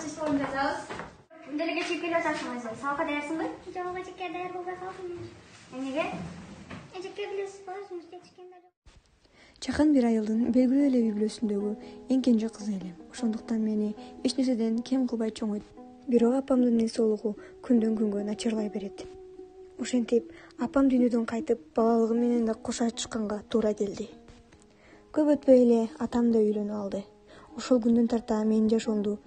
Siz sorun yazarız. Делеге чип келип атасыңыз. Сабакка даярсыңбы? Жок, эчекке даяр болбой калдым. Эмнеге? Эчекке билесиз го, өзүңүз эчеккенде жок. Чакан бир айылдын белгилүү эле үй бүлөсүндөгү эң кенже кызы элем. Ошондуктан мени эч нерседен кем кылбай чоңойт. Бирок апамдын эс соолугу күндөн күнгө начарлай берет. Ошентип, апам дүйнөдөн кайтып, балалыгы менен да кош ачышканга туура келди. Көп өтпөй эле атам да үйлөнүп алды. Ошол күндөн тарта менин жашоомду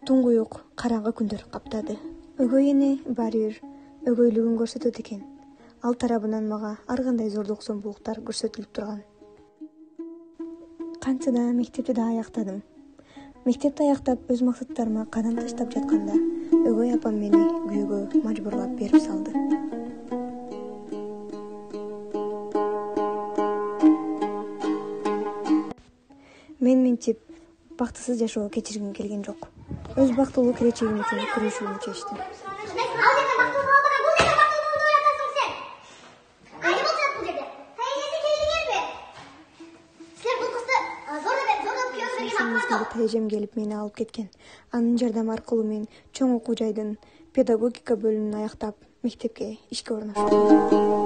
туңгуюк, караңгы күндөр каптады. Өгөй эне баары бир өгөйлүгүн көрсөтөт экен. Ал тарабынан мага ар кандай зордук зомбулуктар көрсөтүлүп турган. Канча да мектепти да аяктадым. Мектепти аяктап өз максаттарыма кадам таштап жатканда өгөй апам мени күйөөгө мажбурлап берип салды. Мен мынтип бактысыз жашоо кечиргим келген жок. Өз бактылуу келечегим үчүн күрөшүүнү чечтим. Тайжем келип мени алып кеткен. Анын жардамы аркылуу мен чоң окуу жайдын педагогика бөлүмүн аяктап, мектепке ишке орноштум.